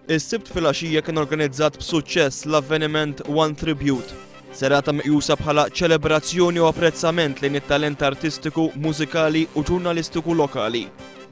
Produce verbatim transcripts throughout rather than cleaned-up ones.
Is-Sibt filgħaxija kien organizzat b'suċċess l-avveniment One Tribute. Serata meqjusa bħala ċelebrazzjoni u apprezzament lejn it-talent artistiku, mużikali u ġurnalistiku lokali.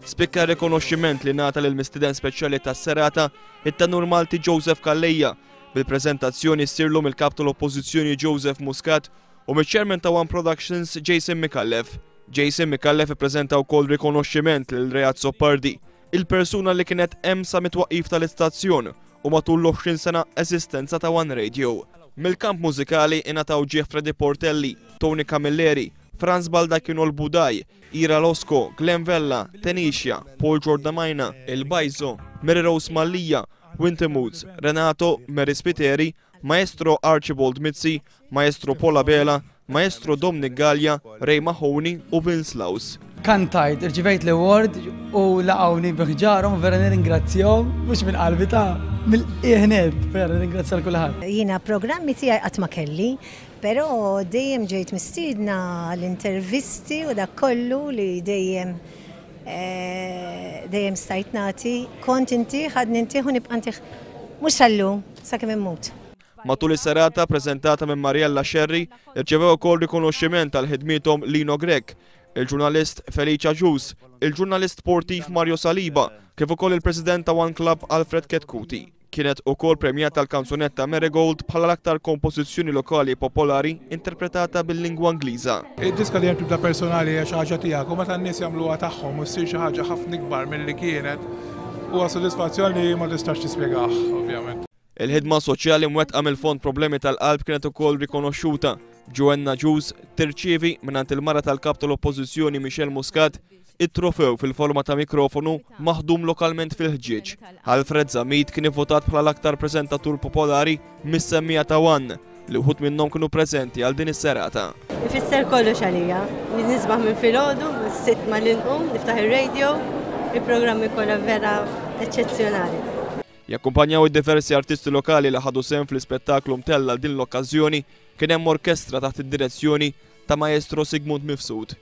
Spikka rikonoxximent li ngħata lil mistieden speċjali tas-serata, it-tenur Malti Joseph Calleja, bil-preżentazzjoni ssirlu mill-kap tal-Oppożizzjoni Joseph Muscat u mill-chairman ta' One Productions Jason Micallef. Jason Micallef ippreżenta wkoll rikonoxximent lil Ray Azzopardi, il-persuna li kienet hemm sa mit-twaqqif tal-istazzjon u matul l-għoxrin sena eżistenza ta' One Radio. Mill-kamp mużikali ingħataw ġieħ Freddy Portelli, Tony Camilleri, Franz Baldacchino l-Budaj, Ira Losco, Glenn Vella, Tenisha, Paul Giordamajna, Il Bajzo, Mary Rose Mallia, Winter Moods, Renato, Mary Spiteri, Maestro Archibald Mizzi, Maestro Paul Abela, Maestro Dominic Gallia, Ray Mahoney u Vince Laus. Kantajt, irċivejt l-award u laqgħuni bi ħġarhom, vera nirringrazzjahom, mhux minn qalbi ta' mill-qiegħ nett, vera nirringrazzja lil kulħadd. Jiena programmi tiegħi qatt ma kelli, però dejjem ġejt mistiedna l-intervisti u dak kollu li dejjem eh, dejjem stajt nagħti, kont intih, għadni ntih u nibqa' ntih mhux sal-lum, sakemm immut. Matul is-serata preżentata minn Mariella Scerri, irċevew ukoll rikonoxximent tal ħidmiethom Lino Grech, il-ġurnalist Felicia Ġus, il-ġurnalist sportiv Mario Saliba, kif ukoll il-President ta' One Club Alfred Chetcuti. Kienet ukoll premjata l-kanzunetta Marigold bħala l-aktar kompożizzjoni lokali popolari interpretata bil-lingwa Ingliża. Id-diska li tibda personali hija xi ħaġa tiegħek u meta n-nies jagħmluha tagħhom u ssir xi ħaġa ħafna ikbar milli kienet, huwa sodisfazzjon li ma tistax tispjegah, ovvjament. Il-ħidma soċjali mwettqa mill-Fond Problemi tal-Qalb kienet ukoll rikonoxxuta. Joanna Ġus tirċievi mingħand il-mara tal-kap tal-Oppożizzjoni Michelle Muscat it-trofew fil-forma ta' mikrofonu maħdum lokalment fil-ħġieġ. Alfred Zammit kien ivvotat bħala l-aktar preżentatur popolari mis-semmiegħa ta' One, li wħud minnhom kienu preżenti għal din is-serata. Ifisser kollox għalija. Nisbaħ minn filgħodu, sitt ma l-inqum, niftaħ ir-radio, il-programmi kollha vera eċċezzjonali. Jakkumpanjaw id-diversi artisti lokali li ħadu sehem fl-ispettaklu mtella din l-okkażjoni kien hemm orkestra taħt id-direzzjoni ta' Maestro Sigmund Mifsud.